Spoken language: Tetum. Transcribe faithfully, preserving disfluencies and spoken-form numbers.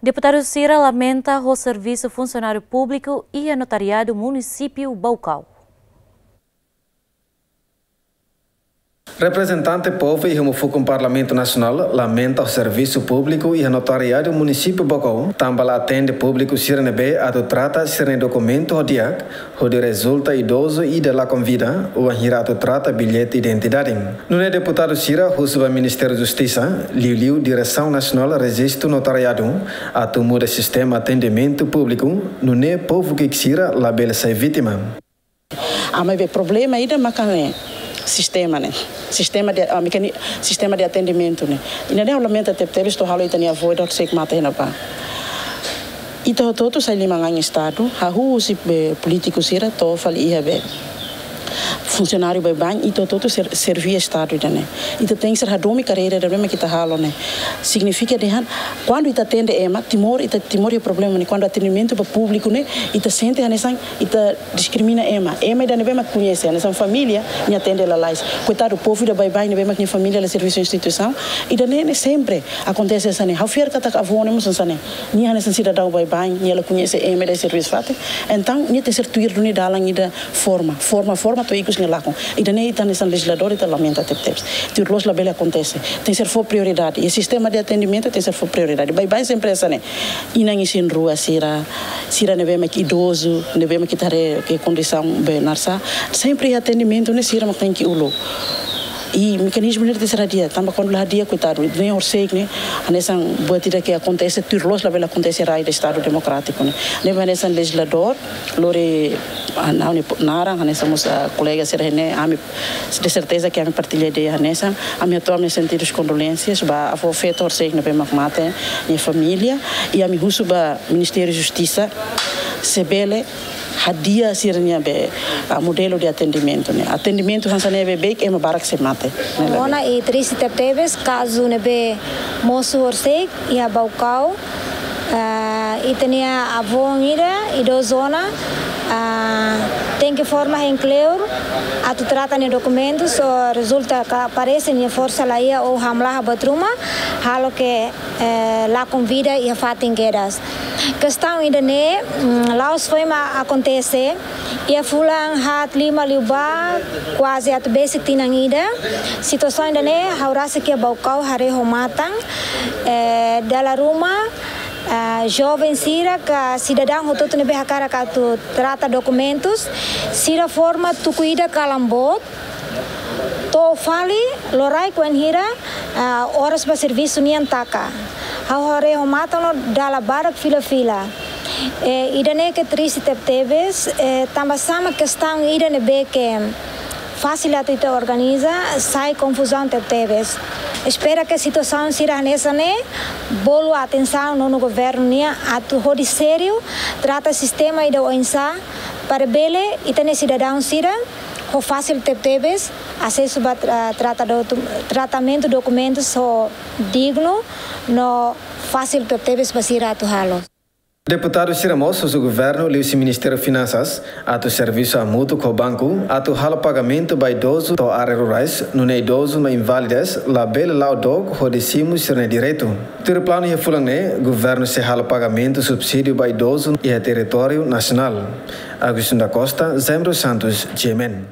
Deputadu sira lamenta ho servisu funsionáriu públiku iha notariadu munisípiu Baucau. Reprezentante povu iha Mufukun Parlamentu Nasionál lamenta ho servisu públiku iha notariadu munisípiu Baucau, tanba la atende públiku sira ne'ebé atu trata sira-nia dokumentu ho di'ak, hodi rezulta idozu ida lakon vida, wainhira atu trata billete identidade. Nune'e deputadu sira husu ba Ministériu Justisa, liuliu Diresaun Nasionál Rejistu Notariadu, atu muda sistema atendimentu públiku, nune'e povu ki'ik sira labele sai vítima. Ami be problema ida maka ne'e sistema ne'e. Sistema de, ah, mekani-, sistema de atendimentu ne'e. Ida-ne'e ha'u lamenta tebetebes, to'o halo ita-nia avó ida horisehik mate iha ne'ebá. Ita hotu-hotu sai liman an Estadu, hahú husi be polítiku sira to'o fali iha be funsionáriu baibain, ita hotu-hotu ser-, serví Estadu ida-ne'e. Ita tenke ser hadomi karreira ida-ne'ebé mak ita halo ne'e. Signifika dehan, kuandu ita atende ema, Timor, ita Timor iha problema ne'e. Kuandu atendimentu ba públiku ne'e, ita sente hanesan ita diskrimina ema. Ema ida ne'ebé mak koñese, hanesan família, nia atende lalais. Koitadu, povu ida baibain ne'ebé mak nia família la servisu instituisaun, ida-ne'e, ne'e sempre akontese hanesan ne'e. Ha'u fiar katak avó ne'e mós hanesan ne'e. Nia hanesan sidadaun baibain, nia la koñese ema ida servisu fatin. Entaun, nia tenke ser tuir duni dalan ida forma, forma, forma to'o ikus nia lakon. Ida-ne'e ita hanesan lejizladór ita lamenta tebetebes. Tuir loos labele akontese. Tenke ser fó prioridade. I sistema de atendimentu tenke ser fó prioridade. Baibain sempre hanesan ne'e. Inan isin-rua sira, sira ne'ebé mak idozu, ne'ebé mak ita haree ke kondisaun be narsá, sempre atendimentu ne'e sira mak tenke uluk. I mekanizmu ne'e tenke ser hadi'a, tanba kuandu la hadi'a, koitadu, ne'e horisehik ne'e, hanesan buat ida ke akontese, tuir loos labele akontese iha rai ida Estadu Demokrátiku ne'e. Ne'ebé hanesan lejizladór, lori, ah, ha'u-nia naran, hanesan mós, ah, kolega sira ne'e, ami de serteza ke ami partilla ideia hanesan, ami hato'o ami-nia sentidu kondolénsias ba avó feto horisehik ne'ebé mak mate, nia família, i ami husu ba Ministériu Justisa, se bele hadi'a sira-nia be, ah, modelu de atendimentu ne'e. Atendimentu hanesan ne'e beibeik, ema barak sei mate. Ne'e. Ona i triste tebetebes, kazu ne'ebé mosu horisehik iha Baucau, ah, ita-nia avó ida, idozu ona, ah, tenke forma hein kleur atu trata nia dokumentus, só rezulta katak parese nia forsa la iha ou hamlaha buat ruma, halo ke, eh, lakon vida iha fatin kedas. Kestaun ida-ne'e, mm, la'ós foin mak akontese, iha fulan haat lima liubá, kuaze atu besik tinan ida. Situasaun ida-ne'e, ha'u rasik iha Baucau haree ho matan, eh, dala ruma, ah, joven sira ka sidadaun hotu-hotu ne'ebé hakarak atu trata dokumentus, sira forma tuku ida kalan boot, to'o fali loraik wainhira, ah, oras ba servisu nian taka. Ha'u haree ho matan no dala barak fila-fila. Eh, ida-ne'e ke triste tebetebes, eh, tanba sá mak kestaun ida ne'ebé ke fasil atu ita organiza, sai konfuzaun tebetebes. Espera ke situasaun sira hanesan ne'e bolu atensaun nonu governu nian atu hodi sériu trata sistema ida oinsá, para bele ita-nia sidadaun sira ho fasil tebetebes asesu ba tra-, trata dotu-, tratamentu dokumentus ho dignu no fasil tebetebes ba sira atu halo. Deputadu sira mós husu governu liuhusi Ministériu Finansas atu servisu hamutuk ho banku atu halo pagamentu ba idozu to'o área rurais, nune'e idozu no invalidez labele la'o dook hodi simu sira-nia direitu. Tuir planu iha fulan ne'e, governu sei halo pagamentu subsídiu ba idozu iha territóriu nasionál. Agostinho da Costa, Jaime dos Santos, G M N.